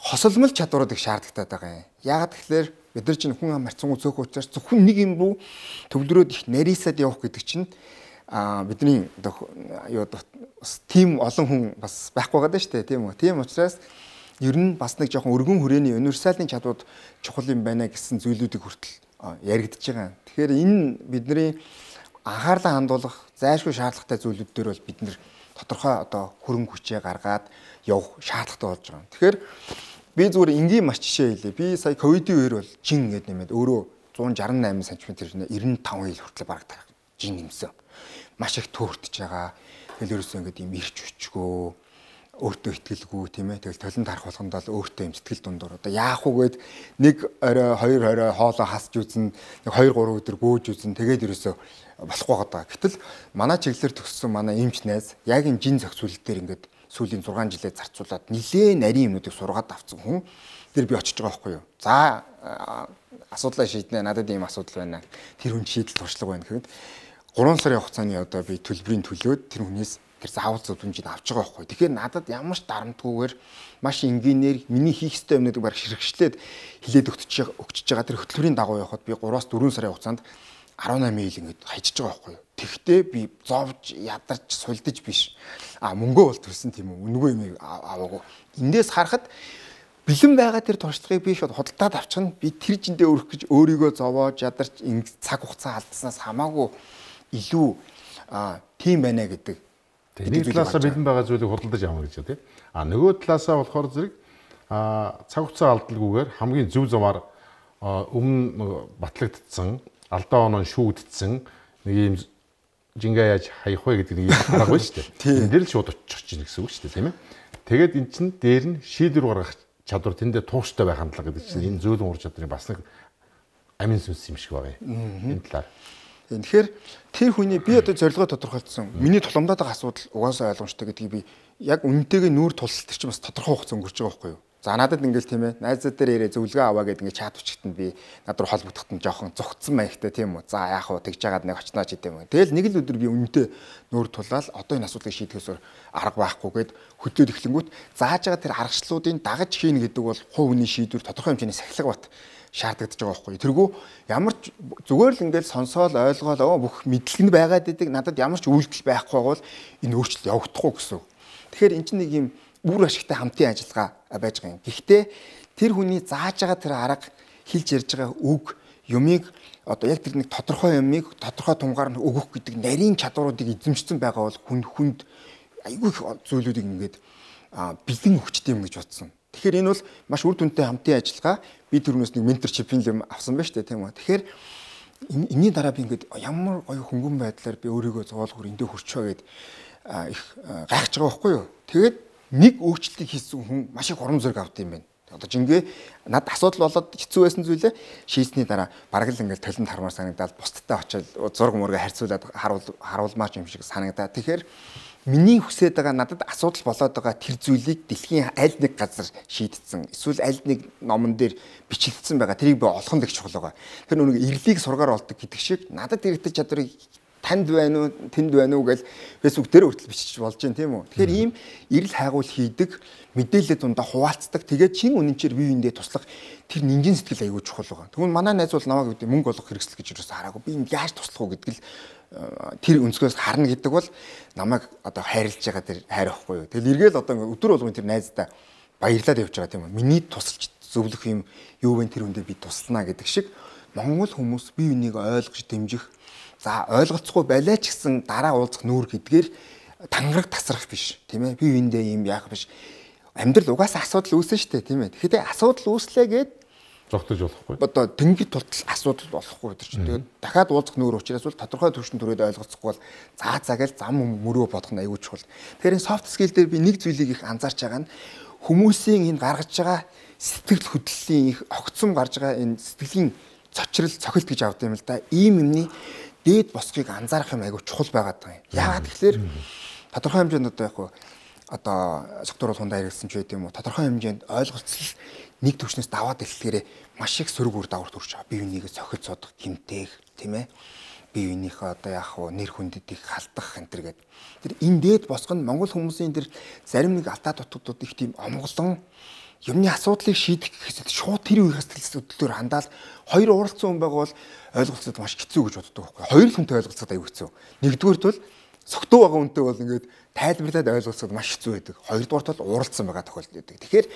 хосолмол чадварууд их шаардлагатай байгаа юм. Яагаад тэгэхээр бид нар чинь хүн ам марцсангуу цөөхөн учраас зөвхөн нэг юм руу төвлөрөөд их нарийсаад явах гэдэг чинь а бидний юу тийм олон хүн бас байхгүй байгаа даа шүү дээ тийм үү. Тийм учраас ер нь бас нэг жоохон өргөн хүрээний универсалын чадварууд чухал юм байна гэсэн зүйлүүдийг хүртэл яригдчихэж байгаа. Тэгэхээр энэ бидний анхаарлаа хандуулах зайлшгүй шаардлагатай зүйлүүд дээр бол бид нэр тодорхой одоо хөрөнгө хүчээ гаргаад явах шаардлагатай болж байгаа. Тэгэхээр би зүгээр энгийн маш жишээ хэлье. Би сая ковидын үеэр бол жин гэдэг нэмээд өөрөө one sixty-eight сантиметр ninety-five ил хүртэл бараг тарах жин нэмсэн. Маш их төөртөж байгаа. Тэгэл ерөөсөө ингэдэг юм ирч хүчгөө өөртөө ихтгэлгүй тийм ээ. Тэгэл толон тарах болгонд л өөртөө юм сэтгэл дундуур. Одоо яах вэ гээд нэг орой хоёр орой хоолоо хасж үзэн нэг two three өдөр гөөж үзэн тэгээд ерөөсөө болохгүй байгаа. Гэтэл манай чиглэлээр төгссөн манай эмч найз яг энэ жин зохицуулалт дээр ингээд сүүлийн six жилээ зарцуулаад нилээн нарийн юмнуудыг сургаад авсан хүн тэр би очиж байгаа байхгүй юу. За асуудлаа шийднэ. Надад ийм асуудал байна. Тэр хүн шийдэл туршлага байна гэхэд three сарын хугацааны одоо би төлбөрийн төлөөд тэр хүнээс тэр заавал зөвлөмжийг авч байгаа байхгүй. Тэгэхээр надад ямар ч дарамтгүйгээр маш энгийнээр миний хийх ёстой юмнуудыг баг ширхэгчлээд хилээд өгч өгч байгаа тэр хөтөлбөрийн дагуу явахад би three-аас four сарын хугацаанд eighteen ил ингэж хайчиж байгаа байхгүй. Тэгвэл би зовж ядарч сулдаж биш. А мөнгөө бол төлсөн тийм үү. Үнэгүй юм аваагүй. Эндээс харахад бэлэн байгаа тэр туршлагыг би шууд худалдаад авчихна. Би тэр жиндээ өрөх гэж өөрийгөө зовоож ядарч цаг хугацаа алдснаас хамаагүй илүү тийм байна гэдэг. Нэг талаасаа бэлэн байгаа зүйлийг худалдаж авах гэж тийм. А нөгөө талаасаа болохоор зэрэг а цаг хугацаа алдалгүйгээр хамгийн зөв замаар өмнө батлагдсан алдаа оноо шүүдсэн нэг юм жингээ яаж хаях вэ гэдэг нэг юм арга байна шүү дээ. Энд дээр л шууд очих чинь гэсэн үг шүү дээ тийм ээ. Тэгээд эн чинь дээр нь шийдвэр гаргах чадвар тэндээ тууштай байх хандлага гэдэг чинь энэ зөөлөн ур чадрын бас нэг амин сүнс юм шиг байгаа юм. Энэ талаар. Тэгэхээр тэр хүний би одоо зорилгоо тодорхойлсон. Миний тулгамдаад байгаа асуудал угаасаа ойлгомжтой гэдгийг би яг үнэнтэйгээ нүүр тулсалт тэр чинь бас тодорхой хугацаа өнгөрч байгаа байхгүй юу? За надад ингээл тийм ээ найзууд дээр ирээ зөвлөгөө аваа гэдэг ингээд чат өчгтөнд би над руу холбогдоход нь жоохон зүгтсэн маягтай тийм үү. За яах вэ тэгж жагаад нэг очноо ч гэдэм юм. Тэгэл нэг л өдөр би үнэнтэй нүүр тулаад одоо энэ асуудлыг шийдэхээс арга байхгүйгээд хөдлөөд эхлэнгүүт зааж байгаа тэр аргачлалуудын дагаж хийнэ гэдэг бол хувь хүний шийдвэр тодорхой хэмжээний сахилга бат шаардагдаж байгаа байхгүй. Тэргүй ямар ч зүгээр л ингээд сонсоол ойлгоол бүх мэдлэг нь байгаад идэг надад ямар ч үйлдэл байхгүй бол энэ өөрчлөлт явагдахгүй гэсэн. Тэгэхээр эн чинь нэг юм үр ашигтай хамтын ажиллагаа байж байгаа юм. Гэхдээ тэр хүний зааж байгаа тэр арга хэлж ярьж байгаа үг юмыг одоо яг тэр нэг тодорхой юмыг тодорхой тунгаар нь өгөх гэдэг нарийн чадваруудыг эзэмшсэн байгаа бол хүн хүнд айгүй их зүйлүүдийг ингээд бэлэн өгчтэй юм гэж бодсон. Тэгэхээр энэ бол маш үр дүнтэй хамтын ажиллагаа. Би түрүүнээс нэг менторшипийн юм авсан байна шүү дээ тийм үү. Тэгэхээр энэний дараа би ингээд ямар гоё хөнгөн байдлаар би өөрийгөө зовоолгоор эндээ хүрчөө гэд их гайхаж байгаа байхгүй юу. Тэгээд нэг өөрчлөлтийг хийсэн хүн маш их урам зориг авд юм байна. Одоо жингээ над асуудал болоод хэцүү байсан зүйлээ шийсний дараа бараг л ингээд толинд хармаар санагдаад бусдтай очиод зураг мөргө харьцуулаад харуул харуулмаач юм шиг санагдаа. Тэгэхээр миний хүсэж байгаа надад асуудал болоод байгаа тэр зүйлийг дэлхийн аль нэг газар шийдсэн. Эсвэл аль нэг номон дээр бичигдсэн байгаа. Тэрийг би олох нь их чухал байгаа. Тэр нүг эрлийг сургаар олдог гэдэг шиг надад иргэдэг чадварыг танд байна уу, тэнд байна уу гэж Facebook дээр хүртэл бичиж болж байна тийм үү. Тэгэхээр ийм эрэл хайгуул хийдэг, мэдээлэл дундаа хуваалцдаг. Тэгээд чин үнэнчээр бие биендээ туслах тэр нинжин сэтгэл аягүй чухал байгаа. Тэгвэл манай найз бол намайг гэдэг мөнгө олох хэрэгсэл гэж юусаа хараагүй. Би энэ яаж туслах уу гэдэг л тэр өнцгөөс харна гэдэг бол намайг одоо хайрлаж байгаа тэр хайр واخгүй юу. Тэгэл эргээл одоо өдөр болгон тэр найздаа баярлаад явж байгаа тийм үү. Миний тусалж зөвлөх юм юу вэ тэр хүндээ би туслана гэдэг шиг Монгол хүмүүс бие биенийг ойлгож дэмжих за ойлголцохгүй байлаа ч гэсэн дараа уулзах нүүр гэдгээр тангараг тасрах биш тийм ээ. Бие биендээ юм яах биш. Амьдрал угаасаа асуудал үүснэ шүү дээ тийм ээ. Тэгэхээр асуудал үүслээ гээд зогтож болохгүй. Одоо тэнгид тултал асуудал болохгүй гэдэг чинь. Тэгээд дахиад уулзах нүүр учраас бол тодорхой төвшин төрөөд ойлгоцохгүй бол заа цагаал зам мөрөө бодох нь аюул чухал. Тэгэхээр энэ soft skill дээр би нэг зүйлийг их анзаарч байгаа нь хүмүүсийн энэ гаргаж байгаа сэтгэл хөдлөлийн их огцом гарч байгаа энэ сэтгэлийн цочрол цохилт гэж авдаг юм л да. Ийм юмны дээд босхийг анзаарах юм аюул чухал байгаад байгаа юм. Яагаад тэгэхээр тодорхой хэмжээнд одоо яг одоо сектор бол хундаа хэрэгсэн ч байт юм уу. Тодорхой хэмжээнд ойлголцол нэг төвчнөөс даваад эхлэхээр маш их сөрөг үр дагавар төрж байгаа. Бие бинийгээ цохиж суудах, тэмтээх, тийм ээ. Бие биенийхээ одоо яах вэ, нэр хүндэдийг халдах энэ төр гэдэг. Тэр энэ дээд босго нь Монгол хүмүүсийн тэр зарим нэг алдаа дутагдууд их тийм омголон юмны асуудлыг шийдэх гэхэд шууд тэр үеийн сэтгэл хөдлөлөөр хандаал хоёр уралцсан хүн байгаа бол ойлголцоод маш хэцүү гэж боддог байхгүй. Хоёр л хүнтэй ойлголцоод аюу хэцүү. Нэгдүгээрт бол согтуу байгаа хүнтэй бол ингээд тайлбарлаад ойлголцоод маш хэцүү байдаг. Хоёрдугаарт бол уралцсан байгаа тохиолдол байдаг. Тэгэхээр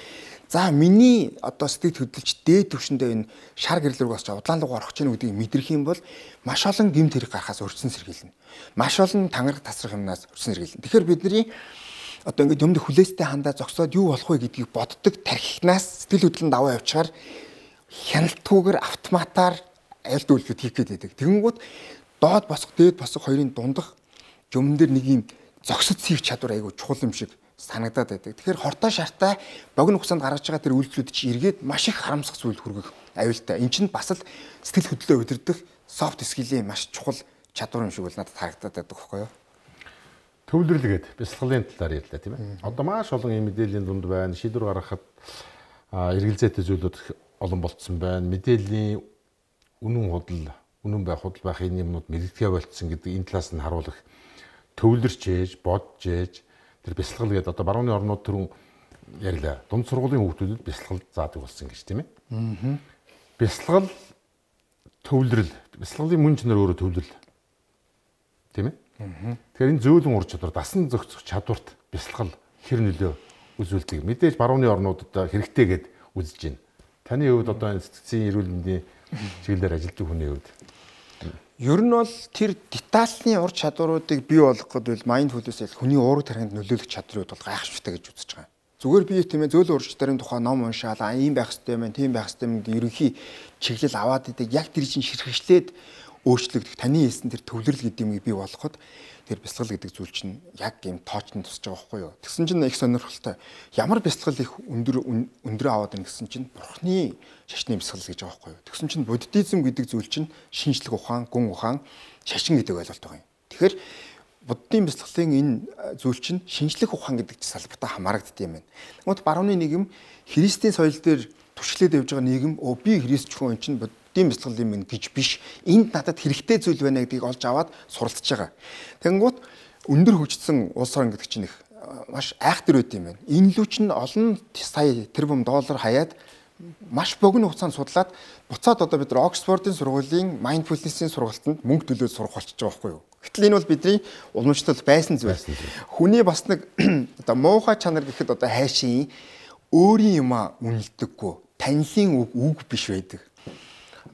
за миний одоо сэтгэл хөдлөлч дээд түвшиндээ энэ шар гэрлүүг бас удаан луг орох гэж нүдийг мэдрэх юм бол маш олон гэмт хэрэг гарахаас өрчсөн сэргийлнэ. Маш олон тангараг тасрах юмнаас өрчсөн сэргийлнэ. Тэгэхээр бидний одоо ингээд юмд хүлээстэй хандаа зогсоод юу болох вэ гэдгийг боддог тархинаас сэтгэл хөдлөнд даваа явуучаар хяналтгүйгээр автоматар аль дүүлбэт хийх гээд байдаг. Тэгэнгүүт доод босох дээд босох хоёрын дундах юм дээр нэг юм зогсож сийх чадвар айгүй чухал юм шиг санагдаад байдаг. Тэгэхээр хортой шартай богино хугацаанд гаргаж байгаа тэр үйлдэлүүд чи эргээд маш их харамсах зүйл хүргэх аюултай. Энд чинь бас л сэтгэл хөдлөлөө удирдах софт скилийн маш чухал чадвар юм шиг бол надад харагдаад байдаг байхгүй юу? Төвлөрлөгээд бясалгалын талаар ярьлаа тийм ээ. Одоо маш олон юм мэдээллийн дунд байна. Шийдвэр гаргахад эргэлзээтэй зүйлүүд олон болцсон байна. Мэдээллийн үнэн худал, үнэн байх, худал байхын юмнууд мэрэгдэхэ болцсон гэдэг энэ талаас нь харуулах төвлөрч ээж, бодж ээж тэр бясалгал гэдэг одоо барууны орнууд түрүүн ярьлаа. Дунд сургуулийн хүүхдүүдэд бясалгал заадаг болсон гэж тийм ээ. Аа. Бясалгал төвлөрөл, бясалгалын мөн чанар өөрөө төвлөрөл. Тийм ээ. Аа. Тэгэхээр энэ зөөлөн ур чадвар, дасан зохицох чадварт бясалгал хэр нөлөө үзүүлдэг. Мэдээж барууны орнуудад хэрэгтэй гэд үзэж байна. Таны хувьд одоо энэ сэтгцийн эрүүл мэндийн чиглэлээр ажилладаг хүний хувьд ер нь бол тэр детальны ур чадваруудыг бий болгох гэдэг бол mindfulness-ийг хүний уурэг тархинд нөлөөлөх чадрууд бол гайхшигтай гэж үзэж байгаа. Зүгээр би тийм ээ зөөлөн ур чадрын тухай ном уншаал аа ийм байх хэрэгтэй юм, тийм байх хэрэгтэй юм гэдэг ерөнхий чиглэл аваад идэг. Яг тэр чинь ширхэгчлээд өөрчлөгдөх таны хэлсэн тэр төвлөрөл гэдэг юмыг бий болгоход тэр бясалгал гэдэг зүйл чинь яг ийм тоочнд тусаж байгаа байхгүй юу. Тэгсэн чинь их сонирхолтой. Ямар бясалгал их өндөр өндрөө аваад байна гэсэн чинь бурхны шашны бясалгал гэж байгаа байхгүй юу. Тэгсэн чинь буддизм гэдэг зүйл чинь шинжлэх ухаан, гүн ухаан, шашин гэдэг ойлголт байгаа юм. Тэгэхээр буддийн бясалгалын энэ зүйл чинь шинжлэх ухаан гэдэг салбартаа хамаарагддаг юм байна. Тэгмээд барууны нийгэм христийн соёл дээр туршлаад явж байгаа нийгэм өө би христ хүн чинь буддийн бясалгал юм гэж биш. Энд надад хэрэгтэй зүйл байна гэдгийг олж аваад суралцж байгаа. Тэгэнгუთ өндөр хөгжсөн улс орн гэдэг чинь их маш айхтар байт юм байна. Энэ лүү чинь олон сая тэрбум доллар хаяад маш богино хугацаанд судлаад буцаад одоо бид нар Оксфордын сургуулийн mindfulness-ийн сургалтанд мөнгө төлөөд сурах болчихж байгаа байхгүй юу. Гэтэл энэ бол бидний уламжлалт байсан зүйл. Хүний бас нэг одоо муухай чанар гэхэд одоо хайшийн өөрийн юмаа үнэлдэггүй, танилын үг үг биш байдаг.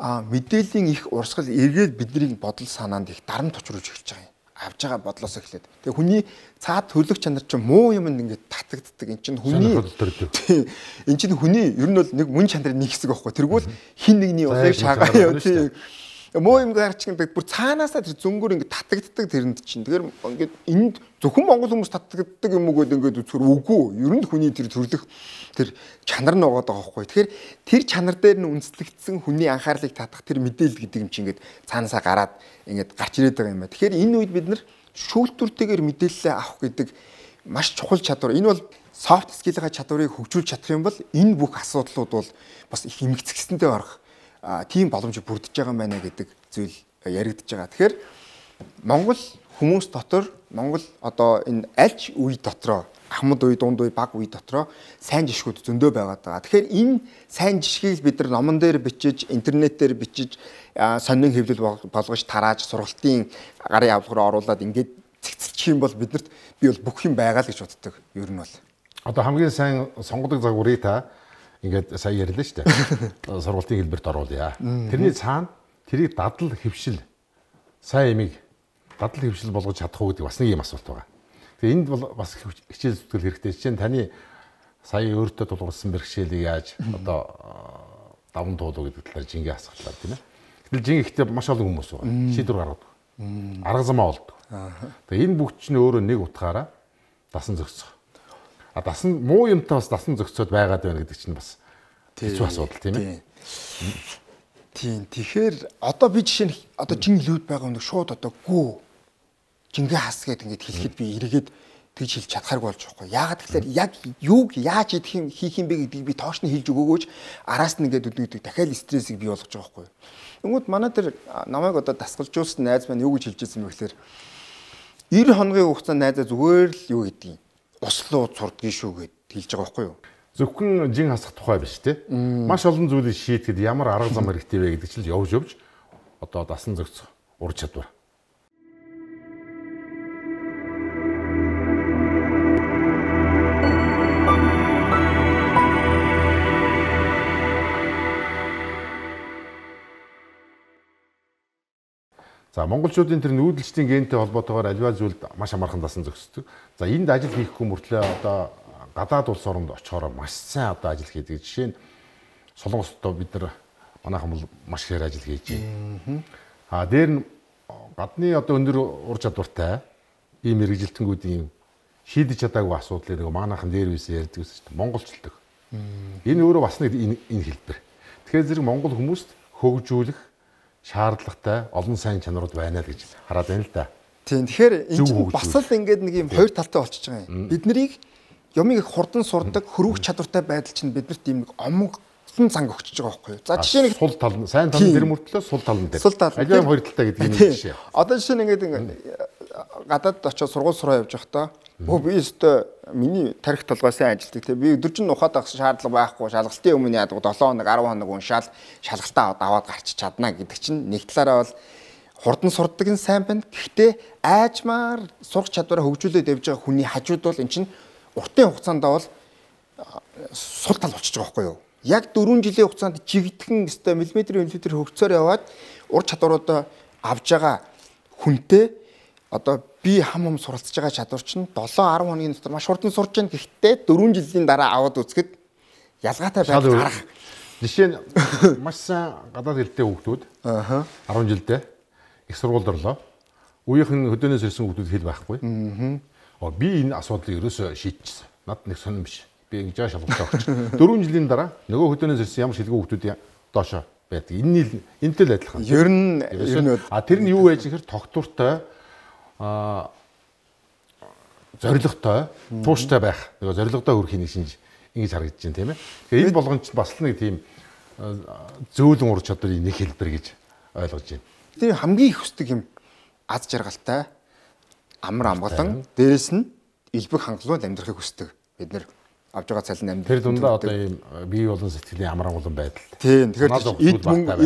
А мэдээллийн их урсгал эргээд бидний бодол санаанд их дарамт учруулж эхэлж байгаа юм. Авж байгаа бодлоос эхлээд. Тэгээ хүний цаад төрлөх чанар чинь муу юмд ингээд татагддаг. Энд чинь хүний энэ чинь хүний ер нь бол нэг мөн чанарын нэг хэсэг байхгүй. Тэргүүл хин нэгний улыг шаагаа яа тий. Муу юм гарч ингээд бүр цаанаасаа тэр зөнгөр ингээд татагддаг тэрэнд чинь. Тэгэхээр ингээд энд зөвхөн монгол хүмүүс татагддаг юм уу гэдэг ингээд үзэхэр үгүй. Ер нь хүний тэр төрлөх тэр чанар нь байгаа байхгүй. Тэгэхээр тэр чанар дээр нь үндэслэгдсэн хүний анхаарлыг татах тэр мэдээлэл гэдэг юм чинь ингээд цаанаасаа гараад ингээд гарч ирээд байгаа юм байна. Тэгэхээр энэ үед бид нар шүүлтүртэйгээр мэдээлэл авах гэдэг маш чухал чадвар. Энэ бол soft skill-ийн чадварыг хөгжүүлж чадах юм бол энэ бүх асуудлууд бол бас их эмгцэгсэндээ орох тийм боломж бүрдэж байгаа юм байна гэдэг зүйл яригдж байгаа. Тэгэхээр Монгол хүмүүс дотор Монгол одоо энэ альч үе дотроо ахмад үе, дунд үе, баг үе дотроо сайн жишгүүд зөндөө байгаад байгаа. Тэгэхээр энэ сайн жишгийг бид нар номон дээр бичиж, интернетээр бичиж, сонин хэвлэл болгож тарааж, сургалтын гарын авлагаар оруулаад ингээд цэгцэлчих юм бол биднэрт би бол бүх юм байгаа л гэж боддог. Ер нь бол. Одоо хамгийн сайн сонгодог загварыг та ингээд сая ярьлаа шүү дээ. Сургалтын хэлбэрт оруулъя. Тэрний цаана тэрийг дадал хөвшил сайн эмийг дадал хөвшил болгож чадах уу гэдэг бас нэг юм асуулт байгаа. Тэгээ энд бол бас хичээл зүтгэл хэрэгтэй. Жишээ нь таны сая өөртөө тулгурсан бэрхшээлийг яаж одоо даван туулуу гэдэг талаар жингээ асуултаар тийм ээ. Гэтэл жингээ ихтэй маш олон хүмүүс байгаа. Шийдвэр гаргадаг. Арга замаа олдог. Тэгээ энэ бүгд чинь өөрөө нэг утгаараа дасан зохицох. А дасан муу юмтай бас дасан зохицоод байгаад байна гэдэг чинь бас хэцүү асуудал тийм ээ. Тийм. Тэгэхээр одоо би жишээ нь одоо жинглүүд байгаа нэг шууд одоо гүү жингээ хас гэдэг ингээд хэлэхэд би эргээд тэгж хэлж чадхааргүй болж байгаа юм. Яагаад тэгэхээр яг юуг яаж идэх юм хийх юм бэ гэдгийг би тоочны хэлж өгөөгөөч араас нь ингээд үдгийдэг дахиад стрессийг бий болгож байгаа байхгүй юу. Тэгмүүд манай тэр намайг одоо дасгалжуулсан найз маань юу гэж хэлж ирсэн бэ гэхээр девять хоногийн хугацаанд найзаа зүгээр л юу гэдгийг услуу цурдгийн шүү гэд хэлж байгаа байхгүй юу. зөвхөн жин хасах тухай биш те. Маш олон зүйлийг шийдэхэд ямар арга зам хэрэгтэй вэ гэдэг чинь явж явж одоо дасан зохицох ур чадвар. За монголчуудын тэр нүүдэлчдийн гентэй холбоотойгоор альва зүйлд маш амархан дасан зохицдог. За энд ажил хийхгүй мөртлөө одоо гадаад улс оронд очихоор маш сайн одоо ажил хийдэг. Жишээ нь Солонгосдоо бид нар манайхан бол маш ихээр ажил хийж байна. А дээр нь гадны одоо өндөр ур чадвартай ийм мэрэгжилтэнгүүдийн шийдэж чадаагүй асуудлыг нэг манайхан дээр үсээ ярьдаг гэсэн чинь монголчлдог. Энэ өөрөө бас нэг энэ хэлбэр. Тэгэхээр зэрэг монгол хүмүүст хөгжүүлэх шаардлагатай олон сайн чанарууд байна л гэж хараад байна л да. Тийм. Тэгэхээр энэ чинь бас л ингээд нэг юм хоёр талтай болчихж байгаа юм. Бид нарыг юмыг их хурдан сурдаг, хөрвөх чадвартай байдал чинь биднэрт ийм нэг омглон занг өгч байгаа байхгүй юу? За жишээ нь сул тал нь сайн тал нь тэр мөртлөө сул тал нь дээр. Аливаа хоёр талтай гэдэг юм жишээ. Одоо жишээ нь ингээд гадаад очиж сургууль сураа явж байхдаа өө би өстө миний тарих толгой сайн ажилтдаг те би өдөржин ухаад авах шаардлага байхгүй шалгалтын өмнө яадаг долоон хоног десять хоног уншаал шалгалтаа аваад гарч чадна гэдэг чинь нэг талаараа бол хурдан сурдаг нь сайн байна. Гэхдээ айжмаар сурах чадвараа хөгжүүлээд явж байгаа хүний хажууд бол эн чинь уртын хугацаанд бол сул тал болчихж байгаа байхгүй юу? Яг дөрвөн жилийн хугацаанд жигдхэн өстой миллиметрийн миллиметр хөгжсөөр яваад ур чадваруудаа авж байгаа хүнтэй одоо би хам хам суралцж байгаа чадвар чинь долоо десять хоногийн дотор маш хурдан сурч байна. Гэхдээ дөрвөн жилийн дараа аваад үзэхэд ялгаатай байдал гарах. Жишээ нь маш сайн гадаад хэлтэй хүүхдүүд аа десять жилдээ их сургуульд орлоо. Үеийнх нь хөдөөнөөс ирсэн хүүхдүүд хэл байхгүй. Аа би энэ асуудлыг ерөөсөө шийдчихсэн. Над нэг сонирм биш. Би ингэж жаа шалгалтаа өгч. дөрвөн жилийн дараа нөгөө хөдөөнөөс ирсэн ямар шилгүй хүүхдүүд доошоо байдаг. Энэ энэтэй л адилхан. Ер нь ер нь а тэр нь юу байж гэхээр тогтвортой а зоригтой, тууштай байх. Нөгөө зоригтой хөрхийн нэг шинж ингэж харагдаж байна тийм ээ. Тэгэхээр энэ болгон ч бас л нэг тийм зөөлөн ур чадварын нэг хэлбэр гэж ойлгож байна. Тэр хамгийн их хүсдэг юм аз жаргалтай амар амгалан дээрэс нь элбэг хангалуун амьдрахыг хүсдэг. Бид нэр авж байгаа цалин амьдрал. Тэр дундаа одоо ийм бие болон сэтгэлийн амар амгалан байдал. Тийм. Тэгэхээр эд мөнгө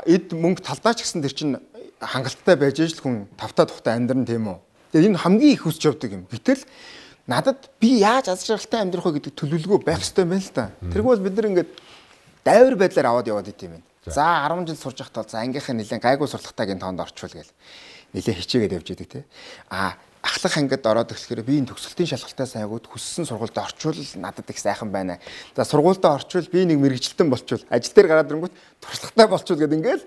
эд мөнгө талдаач гэсэн тэр чинь хангалттай байж л хүн тавтаа тухтай амьдран тийм үү. Тэгээ энэ хамгийн их хүсч явдаг юм. Гэтэл надад би яаж аз жаргалтай амьдрах вэ гэдэг төлөвлөгөө байх хэрэгтэй байна л да. Тэргүй бол бид нар ингээд дайвар байдлаар аваад яваад идэм юм. За десять жил сурж байхдаа за ангийнхаа нэлээд гайгүй сурлагатайгийн тоонд орчвол гээл нэлээд хичээгээд явж идэг те. А ахлах ангид ороод ирэхээр би энэ төгсгөлтийн шалгалтаа сайгууд хүссэн сургуульд орчвол надад их сайхан байна. За сургуульдаа орчвол би нэг мэрэгчлэн болчвол ажил дээр гараад ирэнгүүт туршлагатай болчвол гэдэг ингээл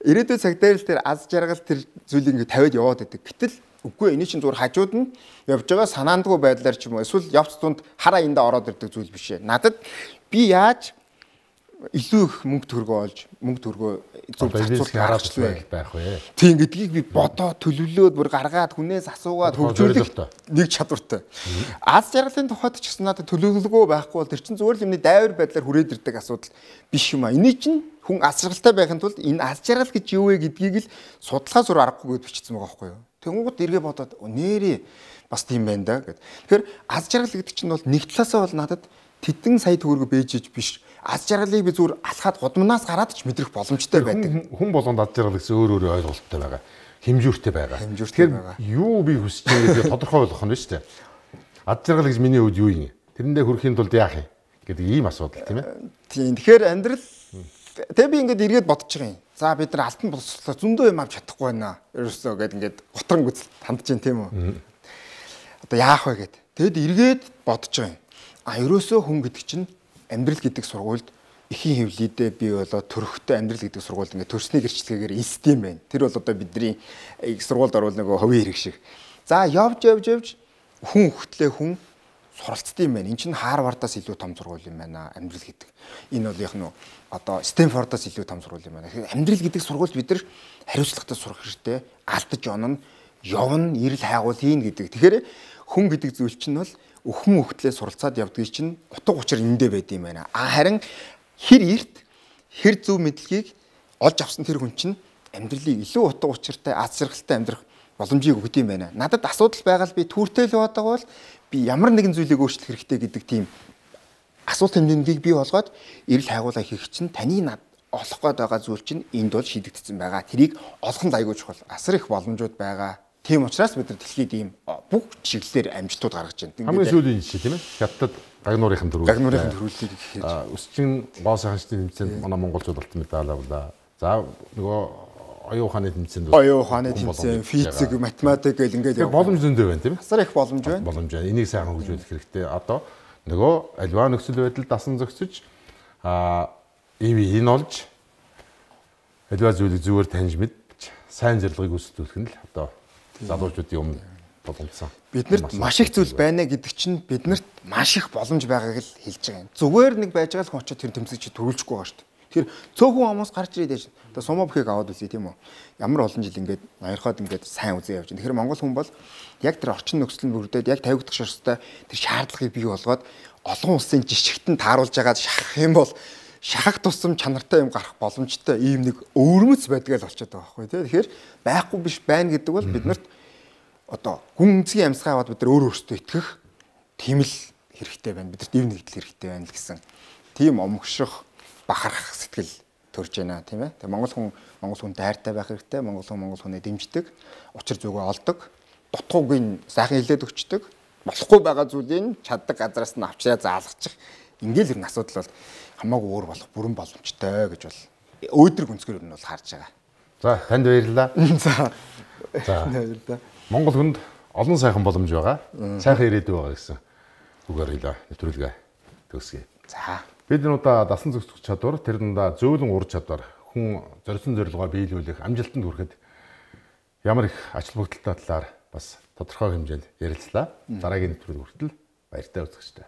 ирээдүйн цаг дээр л тэр аз жаргал тэр зүйлийг ингээд тавиад яваад идэг. Гэтэл үгүй энэ чинь зүгээр хажууд нь явж байгаа санаандгүй байдлаар ч юм уу эсвэл явц тунд хараа эндээ ороод ирдэг зүйл биш ээ. Надад би яаж илүү их мөнгө төгрөгөө олж мөнгө төгрөгөө зөв зохицуулах аргачлал байх вэ? Тийм гэдгийг би бодоод төлөвлөөд бүр гаргаад хүнээс асуугаад хөгжүүлэх нэг чадвартай. Аз жаргалын тухайд ч гэсэн надад төлөвлөгөө байхгүй бол тэр чинь зүгээр л юмны дайвар байдлаар хүрээд ирдэг асуудал биш юм а. Эний чинь хүн аз жаргалтай байхын тулд энэ аз жаргал гэж юу вэ гэдгийг л судалгаа зур аргагүйгээд бичсэн байгаа байхгүй юу? Тэнгууд эргээ бодоод нэрээ бас тийм байна да гэд. Тэгэхээр аз жаргал гэдэг чинь бол нэг талаасаа бол надад тэдэн сая төгрөгө бэжж биш. Аз жаргалыг би зүгээр алхаад гудамнаас гараад ч мэдрэх боломжтой байдаг. Хүн болгонд аз жаргал гэсэн өөр өөр ойлголттой байгаа. Хэмжүүртэй байгаа. Тэгэхээр юу би хүсэж байгаа гэдгийг тодорхой болгох нь шүү дээ. Аз жаргал гэж миний хувьд юу юм? Тэрэндээ хүрэхийн тулд яах юм гэдэг ийм асуудал тийм ээ. Тийм. Тэгэхээр амьдрал тэг би ингээд эргээд бодож байгаа юм. За бид нар алтан боловсруулалт зөндөө юм авч чадахгүй байна. Ерөөсөө гээд ингээд готрон гүцэл хандж जैन тийм үү? Одоо яах вэ гээд. Тэгэд эргээд бодож байгаа юм. А ерөөсөө хүн гэдэг чинь амьдрал гэдэг сургуульд эхийн хөвлөдөө би болоо төрөхтэй амьдрал гэдэг сургуульд ингээд төрсний гэрчлэгээр институт юм байна. Тэр бол одоо бидний сургуульд орвол нөгөө ховын хэрэг шиг. За явж явж явж хүн хөлтлээ хүн суралцдаг юм байна. Энд чинь Харвардаас илүү том сургууль юм байна амьдрал гэдэг. Энэ бол яг нь одоо Стэнфордоос илүү том сургууль юм байна. Тэгэхээр амьдрал гэдэг сургуульд бид нар хариуцлагатай сурах хэрэгтэй. Алдаж онно, явна, ирэл хайгуул хийн гэдэг. Тэгэхээр хүн гэдэг зүйл чинь бол өхөн хөлтлээ суралцаад явдаг чинь утга учир эндээ байд юм байна. А харин хэр эрт хэр зөв мэдлэгийг олж авсан тэр хүн чинь амьдралыг илүү утга учиртай аз жаргалтай амьдрах боломжийг өгд юм байна. Надад асуудал байгаа л би түүртэй л байдаг бол би ямар нэгэн зүйлийг өөрчлөх хэрэгтэй гэдэг тийм асуулт тэмдэнгийг бий болгоод эрэл хайгуулаа хийх чинь таны над олох гээд байгаа зүйл чинь энд бол шийдэгдсэн байгаа. Тэрийг олох нь айгүй чухал. Асар их боломжууд байгаа. Тийм учраас бид нар дэлхийд ийм бүх чиглэлээр амжилтууд гаргаж байна. Хамгийн сүүлийн жишээ тийм ээ. Хятад гагнуурын төрөл. Гагнуурын төрөлийг хийж. Өсчин гоо сайханчдын тэмцээнд манай монголчууд алтан медаль авлаа. За нөгөө оюун ухааны тэмцээнд оюун ухааны тэмцээн, физик, математик гэл ингээд боломж зөндөө байна тийм ээ. Асар их боломж байна. Боломж байна. Энийг сайхан хөгжүүлэх хэрэгтэй. Одоо нөгөө альва нөхцөл байдал дасан зохицож а ив энэ олж альва зүйлийг зүгээр таньж мэдж сайн зорилгыг үүсгэх нь л одоо залуучуудын өмнө боломжсон. Биднэрт маш их зүйл байна гэдэг чинь биднэрт маш их боломж байгааг л хэлж байгаа юм. Зүгээр нэг байж байгаа л хүн очиод тэр тэмцэгч төрүүлчихгүй байгаа шүү дээ. Тэр цөөхөн хүмүүс гарч ирээд яаш. Одоо сумаа бүхийг аваад үзье тийм үү. Ямар олон жил ингээд ноёрхоод ингээд сайн үзээ явж байна. Тэгэхээр монгол хүн бол яг тэр орчин нөхцөл бүрдээд яг тавигдах шаардлагатай тэр шаардлагыг бий болгоод олон улсын жишгтэн тааруулж байгаа шахах юм бол шахах тусам чанартай юм гарах боломжтой ийм нэг өвөрмөц байдаг л болчиход байгаа байхгүй тий. Тэгэхээр байхгүй биш байна гэдэг бол биднэрт одоо хүн үнцгийн амьсгаа аваад бид нар өөр өөртөө итгэх тийм л хэрэгтэй байна. Бидэрт ив нэгдэл хэрэгтэй байна л гэсэн. Тийм омгших бахарах сэтгэл төрж байна тийм ээ. Тэгээ монгол хүн монгол хүн дайртай байх хэрэгтэй. Монгол хүн монгол хүнээ дэмждэг, учир зүгөө олдог, дутгууг нь сайхан хилээд өгчдөг. Болохгүй байгаа зүйлийг чаддаг газраас нь авчраа заалгачих. Ингээл ер нь асуудал бол хамаагүй өөр болох бүрэн боломжтой гэж бол өөдрөг өнцгөр нь бол харж байгаа. За танд баярлалаа. За. За баярлалаа. Монгол хүнд олон сайхан боломж байгаа. Сайхан ирээдүй байгаа гэсэн үгээр хэлээ. Нэвтрүүлгээ төгсгье. За. Бид энэ удаа дасан зохицох чадвар, тэр дундаа зөөлөн ур чадвар, хүн зорьсон зорилгоо биелүүлэх, амжилтанд хүрэхэд ямар их ач холбогдолтой талаар бас тодорхой хэмжээнд ярилцлаа. Дараагийн нэвтрүүлэг хүртэл баяртай үзэгчтэй.